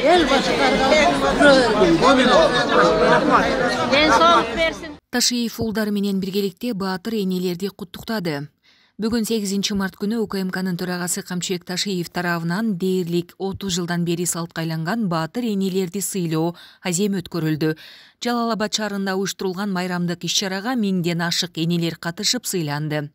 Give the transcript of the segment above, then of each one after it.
эл башкарга ден соолук берсин. Ташиев уулдары менен биргеликте баатыр энелерди куттуктады. Бүгүн 8 март күнү УКМКнын төрагасы Камчыбек Ташиев тарабынан дээрлик 30 жылдан бери салтка айланган баатыр энелерди сыйлоо азем өткөрүлдү. Жалал Абад шаарында уюштурулган майрамдык иш-чарага миңден ашык энелер катышып сыйланды.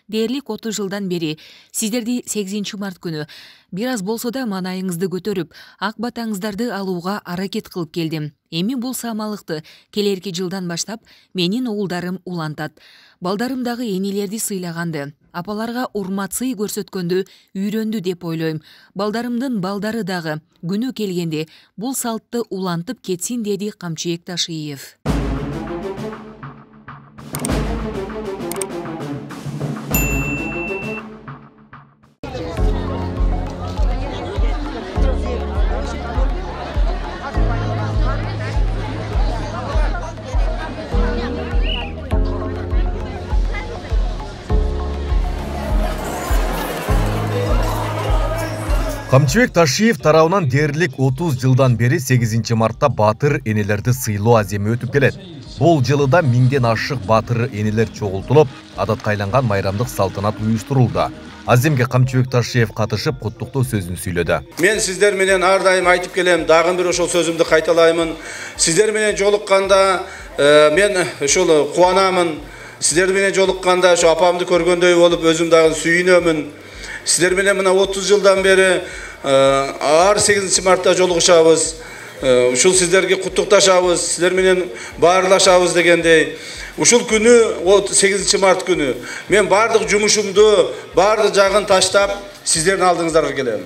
Дээрлик 30 жылдан бери сиздерди 8 март күнү бир аз болсо да маанайыңызды көтөрүп, ак батаңыздарды алууга аракет кылып келдим. Эми бул саамалыкты келерки жылдан баштап менин уулдарым улантат. Балдарым дагы энелерди сыйлаганды, апаларга урмат-сый көрсөткөндү үйрөндү деп ойлойм. Балдарымдын балдары дагы күнү келгенде бул салтты улантып кетсин, деди Камчыбек Ташиев. Камчыбек Ташиев тарабынан дээрлик 30 жылдан бери 8 мартта баатыр энелерди сыйлоо аземи өтүп келет. Бул жылы да миңден ашык баатыр энелер чогултулуп, адатка айланган майрамдык салтанат уюштурулду. Аземге Камчыбек Ташиев катышып куттуктоо сөзүн сүйлөдү. Мен сиздер менен ар дайым айтып келем, дагы бир ошол сөзүмдү кайталаймын. Сиздер менен жолукканда мен ошол кубанамын. Сиздер менен жолукканда ошо апамды көргөндөй болуп, өзүм дагы сүйүнөмүн. Сиздер менен мына 30 жылдан бери ар 8 мартта жолугушабыз. Ушул сиздерге куттукташабыз, сиздер менен баарлашабыз дегендей. Ушул күнү 8 март күнү мен бардык жумушумду, бардык жагын таштап, сиздердин алдыңыздарга келем.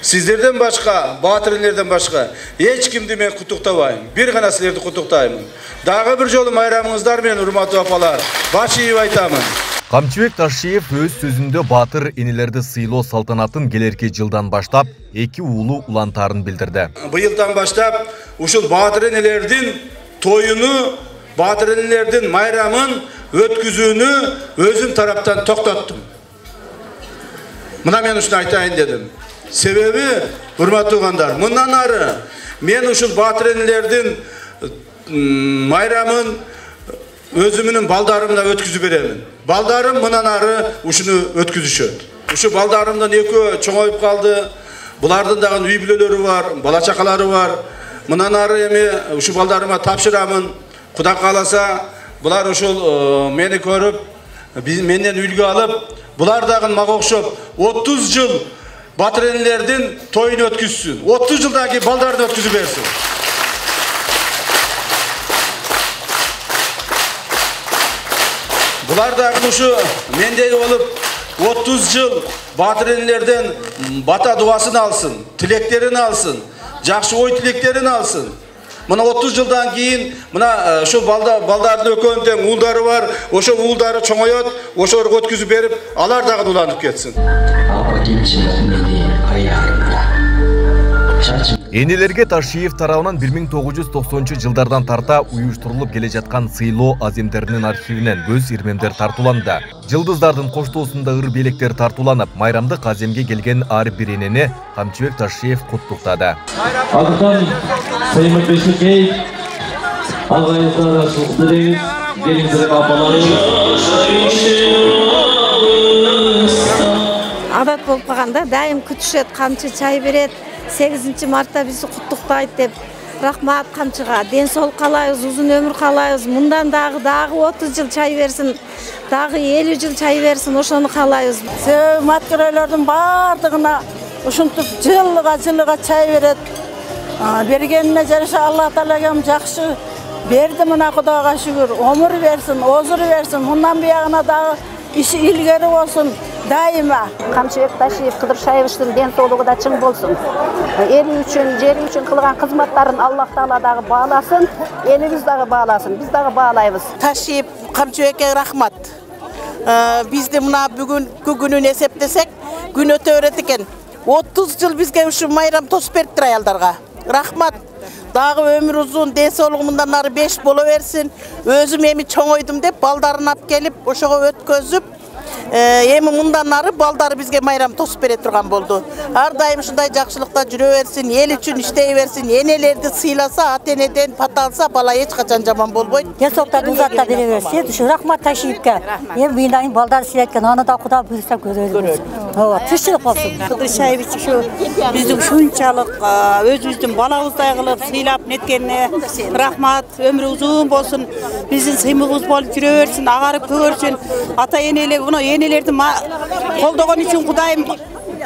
Сиздерден башка, баатырлерден башка эч кимди мен куттуктабайм. Бир гана силерди куттуктайм. Дагы бир жолу майрамыңыздар менен, урматтуу апалар, баш ийип айтамын. Камчыбек Ташиев өз сөзүндө баатыр энелерди сыйлоо салтанатын келерки жылдан баштап эки уулу улантаарын билдирди. Быйылдан баштап ушул баатыр энелердин тоюну, баатыр энелердин майрамын өткүзүүнү өзүм тараптан токтоттум. Мына мен ушуну айтайын дедим. Себеби, урматтуу угандар, мындан ары мен ушул баатыр энелердин майрамын өзүмүнүн балдарымна өткүзүп беремин. Балдарым мындан ары ушуну өткүзүшөт. Ушу балдарымдан экөө чоңоюп калды. Булардын дагы үй бүлөлөрү бар, бала чакалары бар. Мындан ары эми ушу балдарыма тапшырамын. Кудай кааласа, булар ушул мени көрүп, менден үлгү алып, булар дагы мага окшоп 30 жыл баатыр энелердин тоюн өткүзсүн. 30 жылдан кийин балдарын өткүзүп берсин. Булар дагы ушу мендей болуп 30 жыл баатыр энелерден бата дуасын алсын, тилектерин алсын, жакшы ой тилектерин алсын. Мына 30 жылдан кийин мына ошол балдардын экөөнүн тең уулдары бар, ошол уулдары чоңоет, ошолорго өткүзүп берип, алар дагы уланып кетсин. Энелерге Ташиев тарабынан 1990 жылдардан тарта уюштурулуп келе жаткан сыйлоо аземдеринин архивинен көз ирмемдер тартууланды. Жылдыздардын коштоосунда ыр белектер тартууланып, майрамдык аземге келген ар бир энени Камчыбек Ташиев куттуктады. Андыктан Саймон Бешекеев, алгайыңыздар ашылдырыңыз, келиңиздер апаларыңыз. Адат болуп калганда дайым күтүшөт, камчы чай берет. 8 мартта бизди куттуктайт деп. Рахмат камчыга. Ден соолук каалайбыз, узун өмүр каалайбыз. Мындан дагы 30 жыл чай берсин, дагы 50 жыл чай берсин, ошону каалайбыз. Себеби маткөрөлөрдүн бардыгына ушинтип жылга чай берет. Бергенине жараша Алла Таалам жакшы берди, мына Кудайга шүгүр. Өмүр берсин, озур берсин, мындан буягына дагы иши илгери болсун. Дайыма Камчыбек Ташиев Кыдыршаевичтин ден соолугу да чың болсун. Эли үчүн, жери үчүн кылган кызматтарын Аллах Таала дагы бааласын, элибиз дагы бааласын, биз дагы баалайбыз. Ташиев Камчыбекке рахмат. Бизди мына бүгүнкү күнүн эсептесек, күн өтө берет экен. 30 жыл бизге ушу майрам тосуп бериптир аялдарга. Рахмат. Дагы өмүр узун, ден соолугу мындан ары 5 боло берсин. Өзүм эми чоңойдум деп балдарын алып келип, ошого өткөзүп, Эми мындан ары балдары бизге майрам тосуп бере турган болду. Ар дайым ушундай жакшылыкта жүрө берсин, эл үчүн иштей берсин. Энелерди сыйласа, ата-энеден пата алса, бала эч качан жаман болбойт. Денсаулыктан узатта бере берсин. Ушу рахмат Ташиевке. Эми мыйнайын балдар сыйляткан, аны да Кудай буйрса көрөлүбүз. Ооба, тынччылык болсун. Кыдыршаевич ушу биздин ушунчалык өзүбүздүн балабыздай кылып сыйлап неткенине рахмат, өмүрү узун болсун. Биздин сыймыгыбыз болуп жүрө берсин, агарып көгөрсүн. Ата-энелер, мына энелерди колдогон үчүн Кудайым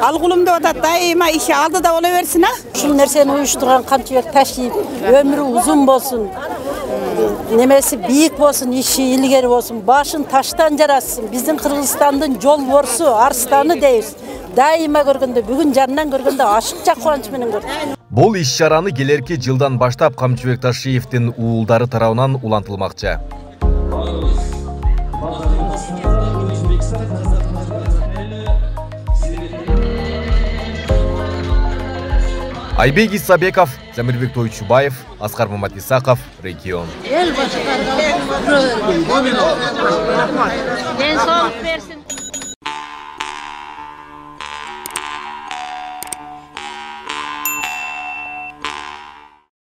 алгулум деп атат, дайыма иши алдыда боло берсин, Ушул нерсени уюштурган Камчыбек Ташиев өмүрү узун болсун. Немеси бийик болсун, иши илгери болсун, башын таштан жаратсын. Биздин Кыргызстандын жолборсу, арстаны дейбиз. Дайыма көргөндө, бүгүн жанынан көргөндө ашыкча кубанч менен көрдүм. Бул иш-чараны келерки жылдан баштап Камчыбек Ташиевдин уулдары тарабынан улантылмакчы. Айбек Исабеков, Замирбек Тойчубаев, Аскар Маматисаков, Регион. Эл башкарган. Ден соолук берсин.